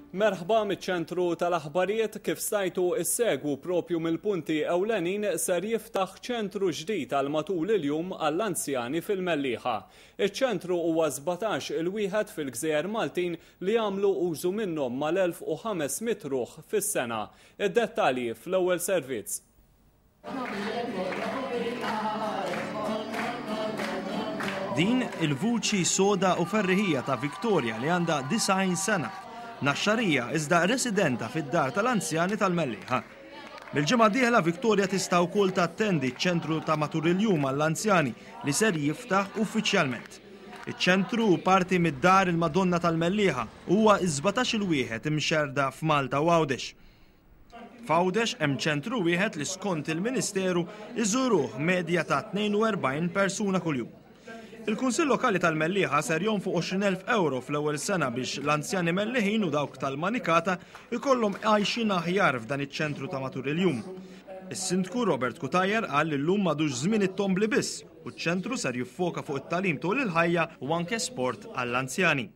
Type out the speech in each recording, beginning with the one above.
Merħba miċ-ċentru tal-aħbarijiet kif stajtu issegwu propju mill-punti ewlenin ser jiftaħ ċentru ġdid għal matul il-jum għall-anzjani fil-Mellieħa. Iċ-ċentru huwa 17 il-wieħed fil-Gżejjer Maltin li jagħmlu użu minnhom mal-1500 ruħ fis-sena. Id-dettalji fl-ewwel servizz. Din il-vuċi soda u ferriħija ta' Victoria li għandha 90 sena. Naxxarija iżda residenta fid-dar tal-anzjani tal-Mellieħa. Mill-ġimgħa d-dieħla Victoria tista' wkoll tattendi ċ-ċentru ta' matul il-jum għall-anzjani li ser jiftaħ uffiċjalment. Iċ-ċentru hu parti mid-Dar il-Madonna tal-Mellieħa u huwa s-17-il wieħed imxerrda f'Malta u Għawdex. F'Għawdex hemm ċentru wieħed li skont il-Ministeru iżuruh medja ta' 42 persuna kuljum. Il-Kunsill Lokali tal-Mellieħa ser jonfoq 20,000 ewro fl-ewwel sena biex l-anzjani Melliħin u dawk tal-Manikata jkollhom għajxien aħjar f'dan iċ-ċentru ta' matul il-jum. Is-Sindku Robert Cutajar qal li llum m'għadux żmien it-tombli biss u ċ-ċentru ser jiffoka fuq it-tagħlim tul il-ħajja u anke sport għall-anzjani.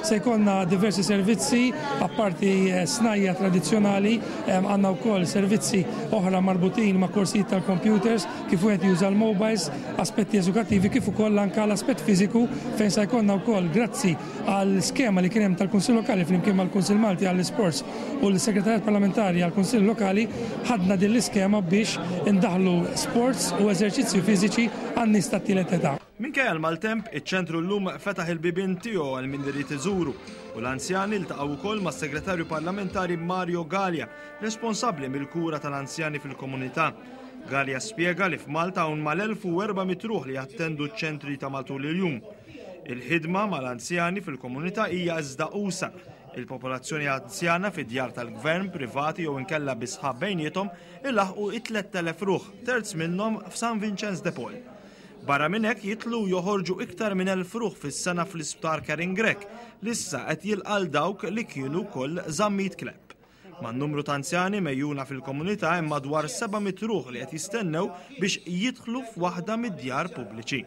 Se jkollna diversi servizzi, apparti eh, snajja tradizzjonali, eh, għandna wkoll servizzi oħra marbutin ma' korsijiet tal-computers, kif wieħed juża l-mobiles, aspetti edukattivi, kif ukoll anke l-aspett fiżiku fejn se jkollna wkoll grazzi għal skema li kien hemm tal-Kunsill Lokali flimkien mal-Kunsill Malti għall-Isports u l-Segretarjat Parlamentari għall-Kunsill Lokali ħadna din l-iskema biex indaħlu sports u eżerċizzju fiżiċi għan-nies tat-tielet età. Minkejja l-maltemp, iċ-ċentru llum fetaħ il-bibien tiegħu għal min irid iżuru u l-anzjani ltaqgħu wkoll mas-Segretarju Parlamentari Mario Galea, responsabbli mill-kura tal-anzjani fil-komunità. Galea spjega li f'Malta hawn mal-1400 ruħ li jattendu ċ-ċentri ta' matul il-jum. Il-ħidma mal-anzjani fil-komunità hija iżda usa'. Il-popolazzjoni anzjana fi djar tal-gvern, privati jew inkella bi sħab bejniethom ilaħħqu it-3000 ruħ, terz minnhom f'San Vincenz de Paul. Barra minn hekk jidħlu u joħorġu iktar minn 1,000 ruħ fis-sena fl-Isptar Karin Grech li issa qed jilqa' 'l dawk li kienu wkoll Zammit Clapp. Man-numru ta' anzjani megħjuna fil-komunità hemm madwar 700 ruħ li qed jistennew biex jidħlu f'waħda mid-djar pubbliċi.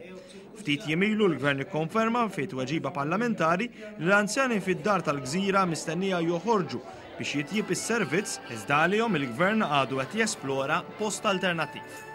Ftit jiem ilu l-Gvern ikkonferma fi tweġiba parlamentari li l-anzjani fid-dar tal-Gżira mistennija joħorġu biex jitjieb is-servizz iżda għalihom il-Gvern għadu qed jesplora post alternattiv.